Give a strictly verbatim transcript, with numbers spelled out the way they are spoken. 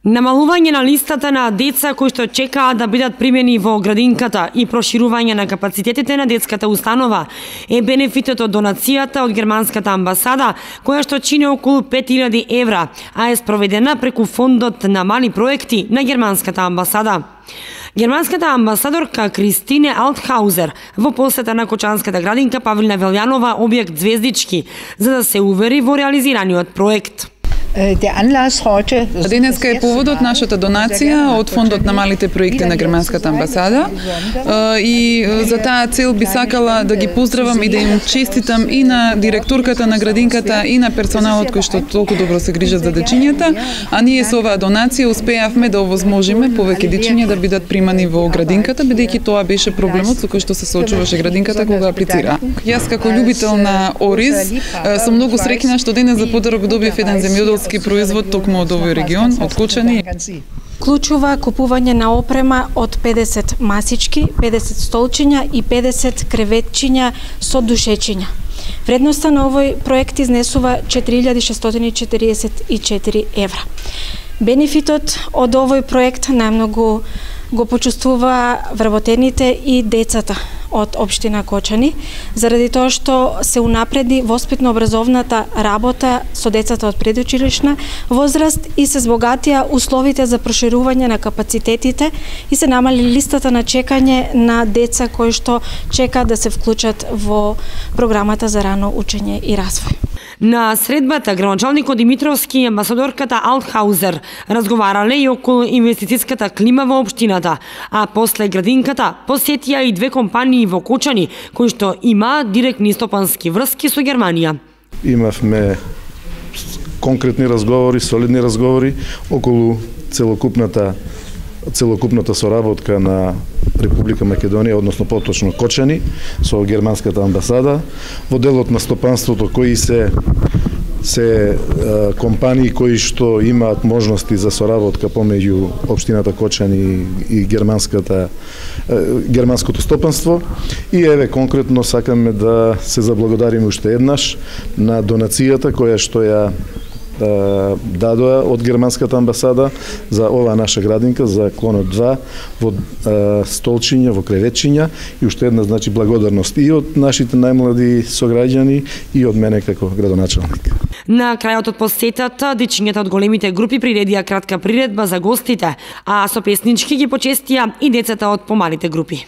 Намалување на листата на деца кои што чекаат да бидат примени во градинката и проширување на капацитетите на детската установа е бенефитот од донацијата од германската амбасада, која што чини околу пет илјади евра, а е спроведена преку фондот на мали проекти на германската амбасада. Германската амбасадорка Кристине Алтхаузер во посета на Кочанската градинка Павлина Велјанова објект Звездички, за да се увери во реализираниот проект. Денеска е поводот нашата донација од фондот на малите проекти на германската амбасада и за таа цел би сакала да ги поздравам и да им честитам и на директорката на градинката и на персоналот кој што толку добро се грижат за дечињата, а ние со оваа донација успеавме да овозможиме повеќе дечиња да бидат примани во градинката, бидејќи тоа беше проблемот со кој што се соочуваше градинката кога аплицира. Јас како љубител на ориз сум многу среќна што денес за подарок добив еден земјоделски производ токму од овој регион, од Кочани. Клучува купување на опрема од педесет масички, педесет столчиња и педесет креветчиња со душечиња. Вредноста на овој проект изнесува четири илјади шестстотини четириесет и четири евра. Бенефитот од овој проект најмногу го почувствува вработените и децата од општина Кочани, заради тоа што се унапреди воспитно-образовната работа со децата од предучилишна возраст и се збогатија условите за проширување на капацитетите и се намали листата на чекање на деца кои што чекаат да се вклучат во програмата за рано учење и развој. На средбата градоначалникот Димитровски и амбасадорката Алтхаузер разговарале и околу инвестицијската клима во општината, а после градинката посетија и две компании во Кочани кои што имаат директни стопански врски со Германија. Имавме конкретни разговори, солидни разговори околу целокупната целокупната соработка на Република Македонија, односно поточно Кочани, со германската амбасада, во делот на стопанството кои се се е, компании кои што имаат можности за соработка помеѓу општината Кочани и германската е, германското стопанство. И еве конкретно сакаме да се заблагодариме уште еднаш на донацијата која што ја дадоа од германската амбасада за оваа наша градинка, за клонот два, во столчиња, во креветчиња, и уште една значи благодарност и од нашите најмлади сограѓани и од мене како градоначалник. На крајот од посетата, дечињата од големите групи приредија кратка приредба за гостите, а со песнички ги почестија и децата од помалите групи.